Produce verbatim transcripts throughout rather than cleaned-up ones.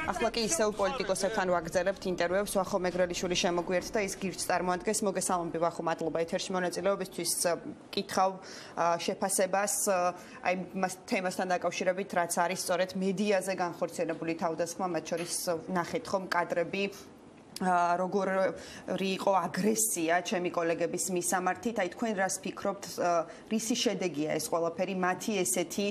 ახლა კი ისევ პოლიტიკოსებთან ვაგრძელებთ ინტერვიუებს. ვახო მეგრელიშვილი შემოგვიერთდა, ის გირჩს წარმოადგენს. მოგესალმები ვახო, მადლობა ეთერში მონაწილეობისთვის. კითხავ შეფასებას აი მას თემასთან დაკავშირებით, რაც არის სწორედ მედიაზე განხორციელებული თავდასხმა, მათ შორის ნახეთ ხომ კადრები როგორი იყო აგრესია ჩემი კოლეგების მისამართით. აი თქვენ რას ფიქრობთ, რისი შედეგია ეს ყველაფერი მათი ესეთი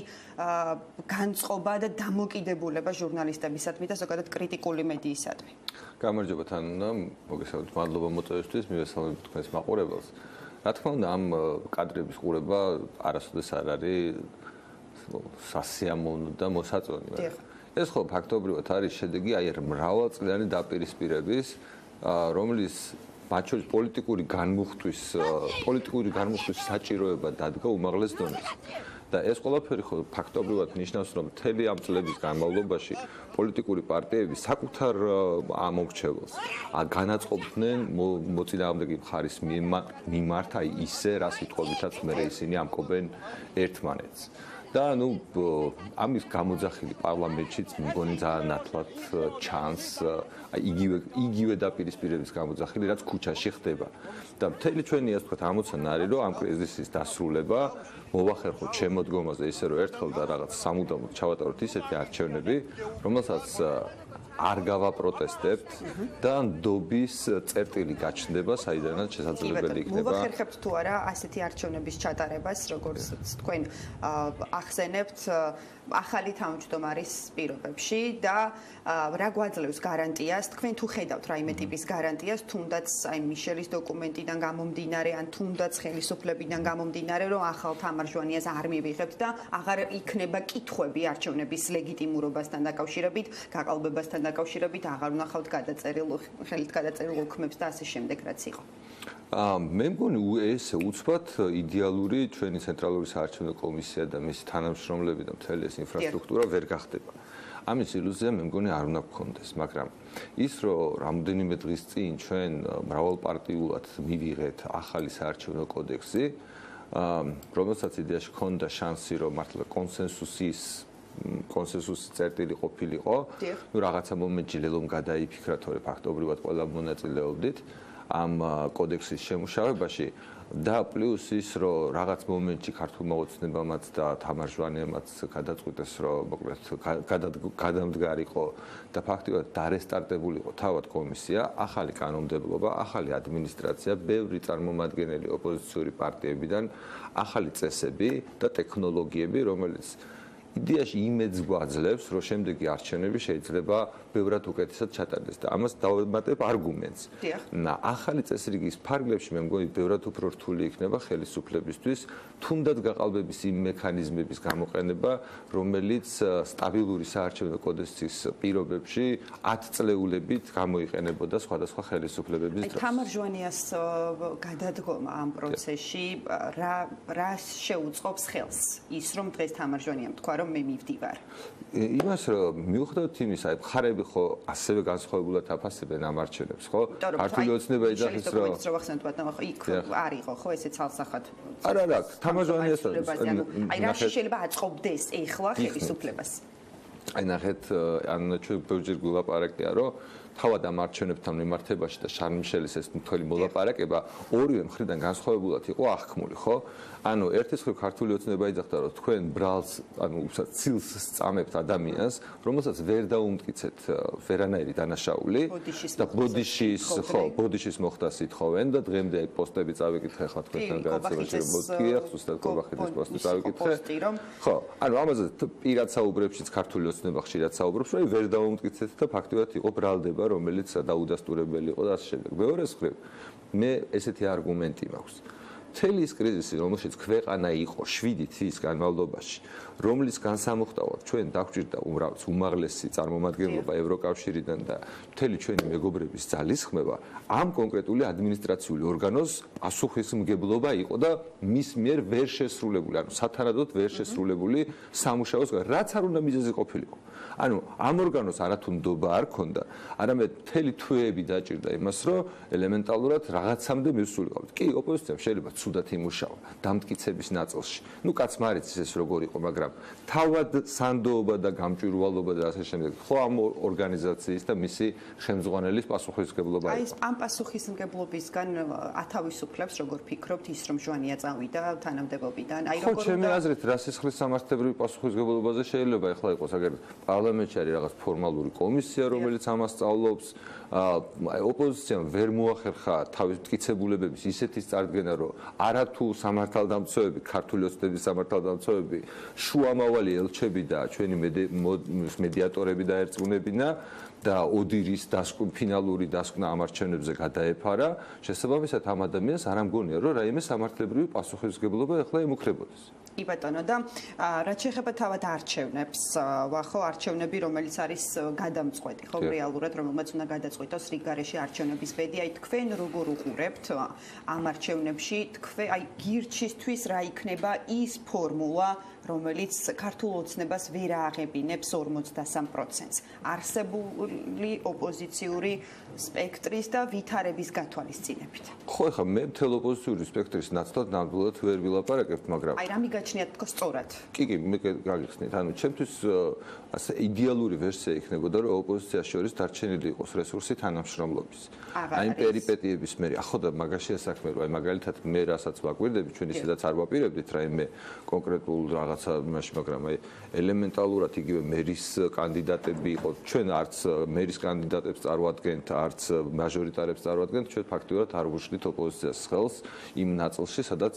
განწყობა და დამოკიდებულება ჟურნალისტებისადმი და ზოგადად კრიტიკული მედიისადმი? გამარჯობა თანა, მოგესალმებით, მადლობა მოწვევისთვის, მივესალმებით თქვენს მაყურებელს. რა თქმა უნდა, ამ კადრების ყურება არასოდეს არ არის სასიამოვნო და მოსაწონი. ეს ხო ფაქტობრივად არის შედეგი აი მრავალწლიანი დაპირისპირების, რომლის მათ შორის პოლიტიკური განმუხტვის, პოლიტიკური განმუხტვის საჭიროება დადგა უმაღლეს დონეზე. და ეს ყველაფერი ხო ფაქტობრივად ნიშნავს, რომ მთელი ამ წლების განმავლობაში პოლიტიკური პარტიები საკუთარ ამორჩეველს განაწყობდნენ მოწინააღმდეგე მხარის მიმართ, აი ისე რა სიტყვებითაც მე ისინი ამკობენ ერთმანეთს. და ნუ ამის გამოძახილი პარლამენტშიც მგონი ძალიან ნათლად ჩანს აი იგივე იგივე დაპირისპირების გამოძახილი რაც ქუჩაში ხდება და მთელი ჩვენი ასე ვთქვათ ამოცანა არის რომ ამ კრიზისის დასრულება მოვახერხოთ შემოდგომაზე ისე რომ ერთხელ და რაღაც სამუდამოდ ჩავატაროთ ისეთი არჩევნები რომელსაც არ გავაპროტესტებთ და ნდობის წერტილი გაჩნდება საიდანაც შესაძლებელი იქნება. მოვახერხებთ თუ არა ასეთი არჩევნების ჩატარებას, როგორც თქვენ ახსენებთ ახალი თავმჯდომარის პირობებში და რა გვაძლევს გარანტიას, თქვენ თუ ხედავთ რაიმე ტიპის გარანტიას, თუნდაც აი მიშელის დოკუმენტიდან გამომდინარე, ან თუნდაც ხელისუფლებიდან გამომდინარე, რომ ახალ თამარჯვანიას არ მივიღებთ და აღარ იქნება კითხვები არჩევნების ლეგიტიმურობასთან დაკავშირებით, გაყალბებასთან დაკავშირებით, აღარ ვნახავთ გადაწერილ ხელით გადაწერილ უქმებს და ასე შემდეგ რაც იყო. მე მგონი ეს უცბად იდეალური ჩვენი ცენტრალური საარჩევნო კომისია და მისი თანამშრომლები და მთელი ეს ინფრასტრუქტურა ვერ გახდება. ამის ილუზია მე მგონი არ უნდა გქონდეს, მაგრამ ის რომ რამდენიმე დღის წინ ჩვენ მრავალპარტიულად მივიღეთ ახალი საარჩევნო კოდექსი, რომელსაც იდეაში ჰქონდა შანსი რომ მართლა კონსენსუსის კონსენსუსის წერტილი ყოფილიყო, ნუ რაღაცა მომენტში ლელომ გადაიფიქრა თორე ფაქტობრივად ყველა მონაწილეობდით ამ კოდექსის შემუშავებაში და პლუს ის რომ რაღაც მომენტში ქართულმა ოცნებამაც და თამარჯვანიამაც გადაწყვიტეს რომ მოკლედ გადამდგარიყო და ფაქტობრივად დარესტარტებულიყო თავად კომისია, ახალი კანონმდებლობა, ახალი ადმინისტრაცია, ბევრი წარმომადგენელი ოპოზიციური პარტიებიდან, ახალი წესები და ტექნოლოგიები, რომელიც იდეაში იმედს გვაძლევს, რომ შემდეგი არჩევნები შეიძლება ბევრად უკეთესად ჩატარდეს და ამას დავემატებ არგუმენტს. და ახალი წესრიგის ფარგლებში მე მგონი ბევრად უფრო რთული იქნება ხელისუფლებისთვის, თუნდაც გაყალბების იმ მექანიზმების გამოყენება, რომელიც სტაბილური საარჩევნო კოდექსის პირობებში ათწლეულებით გამოიყენებოდა სხვადასხვა ხელისუფლებების დროს. თამარჯვანიას გადადგომა ამ პროცესში რა რა შეუწყობს ხელს ის რომ დღეს თამარჯვანიამ თქვა მე მივდივარ. იმას რომ მიუხედავად იმისა, აი მხარეები ხო ასევე განსხვავებულად აფასებენ ამ არჩევნებს, ხო? ქართული ოცნება იძახის რომ იქ არ იყო ხო ესე ცალსახად. არა, არა, თამარჯვანიას აი რა შეიძლება აწყობდეს ეხლა ხელისუფლებას. აი ნახეთ, ან ჩვენ ბევრჯერ გულაპარაკია რომ თავად ამ არჩევნებთან მიმართებაში და შარლ მიშელის ეს მთელი მოლაპარაკება ორივე მხრიდან განსხვავებულად იყო აღქმული, ხო? ანუ ერთის მხრივ ქართული ოცნება იძახდა რომ თქვენ ბრალს, ანუ უბრალოდ ცილს სწამებთ ადამიანს, რომელსაც ვერ დაუმტკიცეთ ვერანაირი დანაშაული და ბოდიშის, ხო, ბოდიშის მოხდა სითხოვენ და დღემდე აი პოსტები წავიკითხე ხა თქვენთან გადაცემაში რომ მოდია, ზუსტად კობახეთის პოსტი წავიკითხე. ხო, ანუ ამაზე პირად საუბრებშიც ქართული ოცნება ხშირად საუბრობს, რომ ვერ დაუმტკიცეთ და ფაქტობრივად იყო ბრალდება რომელიც დაუდასტურებელი იყო და ასე შემდეგ. მეორე მხრივ, მე ესეთი არგუმენტი მაქვს. მთელი ის კრიზისი, რომელშიც ქვეყანა იყო შვიდი თვის განმავლობაში, რომლის განსამოხტავად ჩვენ დაგვჭირდა უმაღლესი წარმომადგენლობა ევროკავშირიდან და მთელი ჩვენი მეგობრების ძალისხმევა, ამ კონკრეტული ადმინისტრაციული ორგანოს პასუხისმგებლობა იყო და მის მიერ ვერ შესრულებული, ანუ სათანადოდ ვერ შესრულებული სამუშაოს, რაც არ უნდა მიზეზი ყოფილიყო. ანუ ამ ორგანოს არათუ ნდობა არ ქონდა, არამედ მთელი თვეები დაჭირდა იმას, რომ ელემენტალურად რაღაცამდე მისულიყავთ. კი, ოპოზიციამ შეიძლება ცუდად იმუშავა დამტკიცების ნაწილში. ნუ კაც მარიცის ეს როგორ იყო, მაგრამ თავად სანდოობა და გამჭვირვალობა და ასე შემდეგ. ხო ამ ორგანიზაციის და მისი ხელმძღვანელის პასუხისმგებლობა იყო. აი ეს ამ პასუხისმგებლობისგან ათავისუფლებს როგორ ფიქრობთ ის რომ ჟვანია წავიდა თანამდებობიდან? აი როგორ ხო ჩემი აზრით რა სისხლის სამართლებრივი პასუხისმგებლობაზე შეიძლება ეხლა იყოს აგერ პარლამენტში არის რაღაც ფორმალური კომისია რომელიც ამას სწავლობს ოპოზიციამ ვერ მოახერხა თავის მტკიცებულებების ისეთის წარდგენა რომ არათუ სამართალდამცავები ქართული ოცნების სამართალდამცავები შუამავალი ელჩები და ჩვენი მედიატორები დაერწმუნებინა და ოდირის დასკვნ ფინალური დასკვნა ამ არჩევნებზე გადაეფარა შესაბამისად ამ ადამიანს არ ამგონია რომ რაიმე სამართლებრივი პასუხისმგებლობა ეხლა ემუქრებოდეს. კი ბატონო და რაც შეეხება თავად არჩევნებს, ხო არჩევნები რომელიც არის გადამწყვეტი, ხო რეალურად რომელმაც უნდა გადაწყვიტოს რიგგარეშე არჩევნების ბედი, აი თქვენ როგორ უყურებთ ამ არჩევნებში, თქვენ აი გირჩისთვის რა იქნება ის ფორმულა რომელიც ქართულ ოცნებას ვერ ააღებინებს ორმოცდასამ პროცენტს. არსებული ოპოზიციური სპექტრის და ვითარების გათვალისწინებით. ხო, ეხლა მე მთელ ოპოზიციური სპექტრის ნაცვლად ნამდვილად ვერ ვილაპარაკებთ, მაგრამ აი რა მიგაჩნიათ თქო სწორად? კი, კი, მე გაგიხსნით. ანუ ჩემთვის ასე იდეალური ვერსია იქნებოდა, რომ ოპოზიციას შორის დარჩენილი იყოს რესურსი თანამშრომლობის. აი პერიპეტიების მერე, ახო და მაგაშია საქმე, რომ აი მაგალითად მე რასაც ვაკვირდები, ჩვენ ისედაც არ ვაპირებდით რაიმე კონკრეტულ რაღაცა იმაში, მაგრამ აი ელემენტალურად იგივე მერის კანდიდატები იყო. ჩვენ არც მერის კანდიდატებს წარვადგენთ, არც მაჟორიტარებს წარვადგენთ, ჩვენ ფაქტობრივად არ ვუშლით ოპოზიციას ხელს იმ ნაწილში, სადაც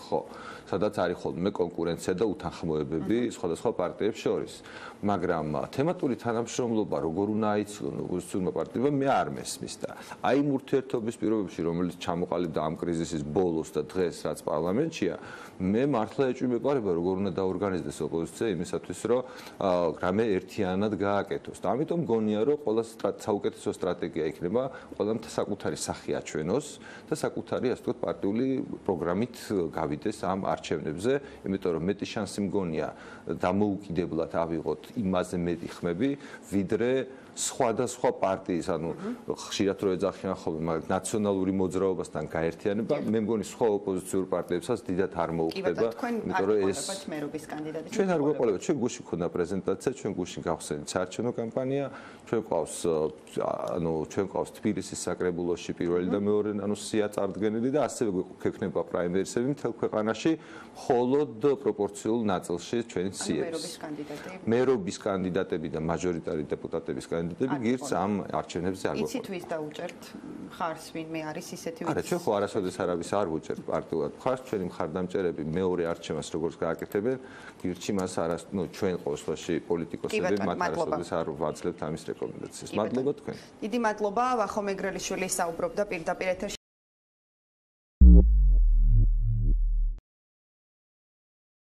ხო, სადაც არის ხოლმე კონკურენცია და უთანხმოებები სხვადასხვა პარტიებს შორის. მაგრამ თემატური თანამშრომლობა როგორ უნდა აიცილონ ოპოზიციურმა პარტიებმა მე არ მესმის და აი იმ ურთიერთობის პირობებში, რომელიც ჩამოყალიბდა ამ კრიზისის ბოლოს და დღეს, რაც პარლამენტშია, მე მართლა ეჭვი მეყარება როგორ უნდა დაორგანიზდეს ოპოზიცია იმისათვის, რომ რამე ერთიანად გააკეთოს. და ამიტომ მგონია, რომ ყველა საუკეთესო სტრატეგია იქნება ყველამ საკუთარი სახე აჩვენოს და საკუთარი, ასე ვთქვათ, პარტიული პროგრამით გავიდეს ამ არჩევნებზე, იმიტომ რომ მეტი შანსი მგონია დამოუკიდებლად ავიღოთ იმაზე მეტი ხმები, ვიდრე სხვადასხვა პარტიის, ანუ ხშირად რო ეძახიან ხოლმე, მაგრამ ნაციონალური მოძრაობასთან გაერთიანება, მე მგონი სხვა ოპოზიციურ პარტიებსაც დიდად არ მოუხდება, იმიტომ რომ ეს მერობის კანდიდატი. ჩვენ არ გვეყოლებათ, ჩვენ გუშინ ქონდა პრეზენტაცია, ჩვენ გუშინ გავხსენით საარჩევნო კამპანია, ჩვენ ყავს, ანუ ჩვენ ყავს თბილისის საკრებულოში პირველი და მეორე, ანუ სია წარდგენილი და ასევე გვექნება პრაიმერისები მთელ ქვეყანაში, მხოლოდ პროპორციულ ნაწილში ჩვენი სიების. მერობის კანდიდატები. მერობის კანდიდატები და მაჟორიტარი დეპუტატების კანდიდატები გირც ამ არჩევნებზე არ გვეყოლებათ. იცით ვის დაუჭერთ ხარს ვინმე არის ისეთი არა, ჩვენ ხო არასოდეს არავის არ ვუჭერთ პარტიულად ხარს, ჩვენი მხარდამჭერები მეორე არჩევანს როგორც გააკეთებენ, გირჩი მას არას, ნუ ჩვენ ყოველში პოლიტიკოსები მათ არასოდეს არ ვაძლევთ ამის რეკომენდაციას. მადლობა თქვენ. დიდი მადლობა, ვახო მეგრელიშვილი საუბრობდა პირდაპირ ეთერში.